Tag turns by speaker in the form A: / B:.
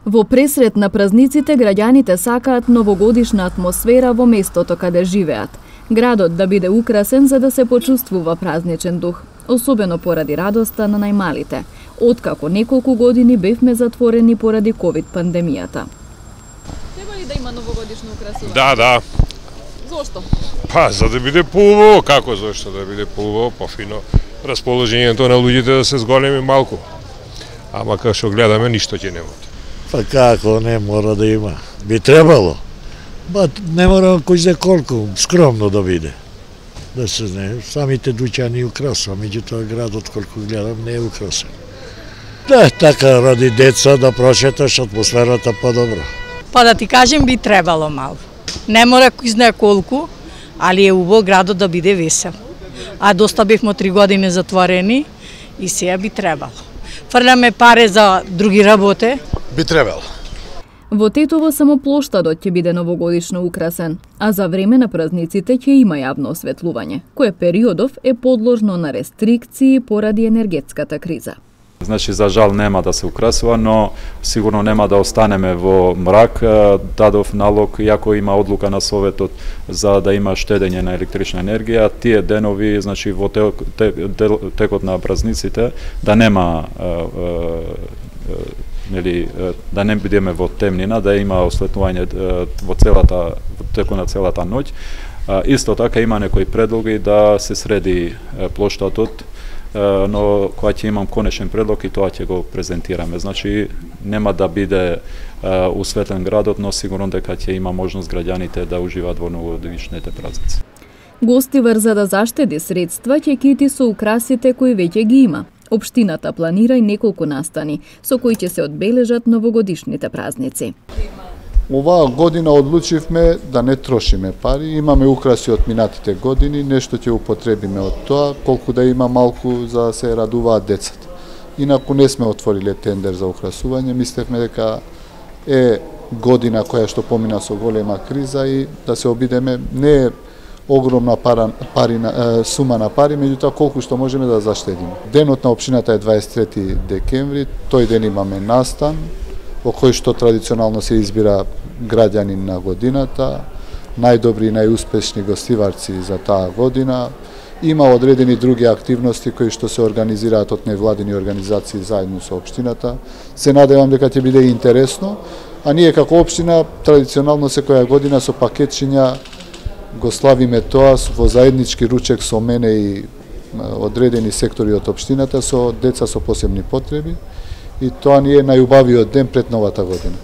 A: Во пресрет на празниците, граѓаните сакаат новогодишна атмосфера во местото каде живеат. Градот да биде украсен за да се почувствува празничен дух, особено поради радоста на најмалите, откако неколку години бевме затворени поради ковид пандемијата.
B: Треба ли да има новогодишно украсување?
C: Да.
B: Зошто?
C: За да биде поубаво, како зошто да биде поубаво, пофино, расположението на луѓето да се зголеми малку. Ама како што гледаме, ништо ќе нема.
D: Како не мора да има? Би требало. Не мора кој знае колку, скромно да биде. Да се знае, самите дуќани украсува, меѓутоа градот колку гледам не е украсен. Да, така ради деца да прошеташ атмосферата подобро.
E: Да ти кажем би требало мало. Не мора кој знае колку, али е убаво градот да биде весел. А доста бевме 3 години затворени и сега би требало. Фрляме пари за други работи.
D: Би требало.
A: Во Тетово само плоштадот ќе биде новогодишно украсен, а за време на празниците ќе има јавно осветлување, кое периодов е подложно на рестрикции поради енергетската криза.
F: Значи, за жал нема да се украсува, но сигурно нема да останеме во мрак. Дадов налог, иако има одлука на Советот за да има штедење на електрична енергија, тие денови, значи во текот на празниците, да нема да не бидеме во темнина, да има осветлување во текот на целата ноќ. Исто така има некои предлоги да се среди плоштадот, но кога ќе имам конечен предлог и тоа ќе го презентираме. Значи нема да биде усветлен градот, но сигурно дека ќе има можност граѓаните да уживаат во новогодишните празници.
A: Гостивар за да заштеди средства ќе кити со украсите кои веќе ги има. Општината планира и неколку настани со кои ќе се одбележат новогодишните празници.
G: Оваа година одлучивме да не трошиме пари, имаме украси од минатите години, нешто ќе употребиме од тоа, колку да има малку за да се радуваат децата. Инаку не сме отвориле тендер за украсување, мислевме дека е година која што помина со голема криза и да се обидеме, не е огромна сума на пари, меѓутоа колку што можеме да заштедиме. Денот на општината е 23 декември, тој ден имаме настан, во кој што традиционално се избира граѓанин на годината, најдобри и најуспешни гостиварци за таа година. Има одредени други активности кои што се организираат од невладини организации заедно со општината. Се надевам дека ќе биде интересно, а ние како општина традиционално секоја година со пакетчиња го славиме тоа во заеднички ручек со мене и одредени сектори од општината со деца со посебни потреби. И тоа ни е најубавиот ден пред новата година.